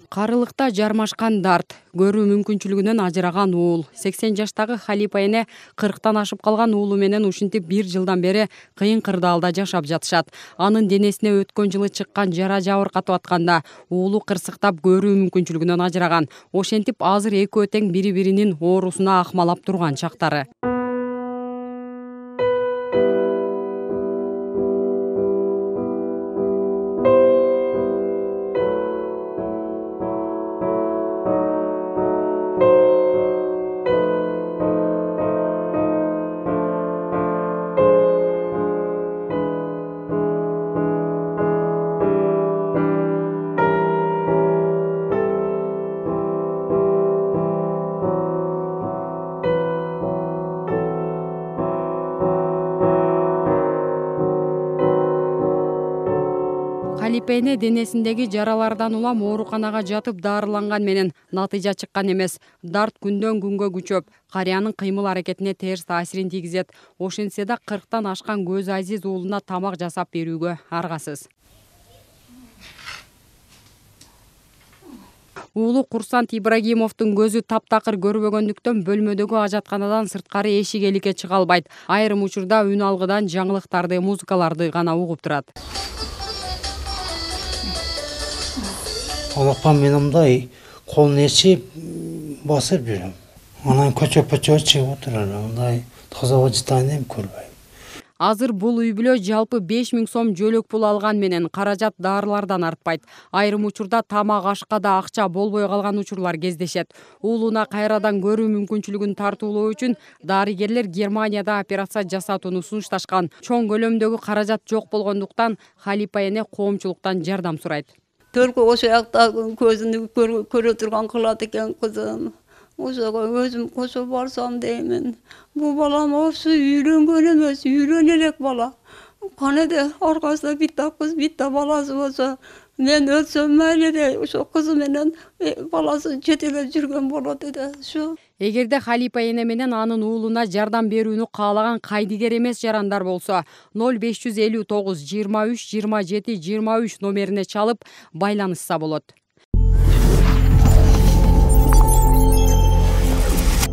Карылыкта жармашкан дарт, көрүү мүмкүнчүлүгүнөн ажыраган уул. 80 жаштагы Халипа эне 40тан ашып калган уулу менен ушинтип 1 жылдан бери кыйын кырдаалда жашап жатышат. Анын денесине өткөн жылы чыккан жара жабыркатып атканда уулу кырсыктап көрүү мүмкүнчүлүгүнөн ажыраган. Ошентип азыр экөө тең бири-биринин оорусуна акмалап турган чактары. Халипа эне денесиндеги жаралардан улам ооруканага жатып дарыланган менен натыйжа чыккан эмес. Дарт күндөн күнгө күчөп, карыянын кыймыл аракетине терс таасирин тийгизет. Ошентсе да 40тан ашкан көзү азиз уулуна тамак жасап берүүгө аргасыз. Уулу Курсант Ибрагимовдун көзү таптакыр көрбөгөндүктөн бөлмөдөгү ажатканадан сырткары эшик эликке чыга албайт. Айрым учурда үн алгыдан жаңылыктарды, музыкаларды гана угуп турат. Алакан мен мындай колун ээрчип басып жүрөм. Анан көчөп чыгып отурар. Мындай таза вождание көрбөйм. Азыр бул үй бүлө жалпы 5000 сом жөлөк пул алган менен каражат дарылардан артпайт. Айрым учурда тамак ашка да акча болбой калган учурлар кездешет. Уулуна кайрадан көрүү мүмкүнчүлүгүн тартуулоо үчүн дарыгерлер Германияда операция жасатууну сунушташкан. Чоң көлөмдөгү каражат жок болгондуктан Халипа эне коомчулуктан жардам сурайт. Только ошо жакта көзүнү көрө турган кылат экен кызым. Ошого өзүм кошо барсам деймин. Бул балам ошо үйрөнгөн эмес, үйрөнө элек бала. Канеде аркасында битта кыз, битта баласы болсо, мен өлсөм мейли де, ошо кызы менен баласы чет элде жүргөн болот эди. Ошо. Эгерде Халипа эне менен анын уулуна жардам берүүнү каалаган кайдыгер эмес жарандар болсо, 0559 23 27 23 номерине чалып байланышса болот.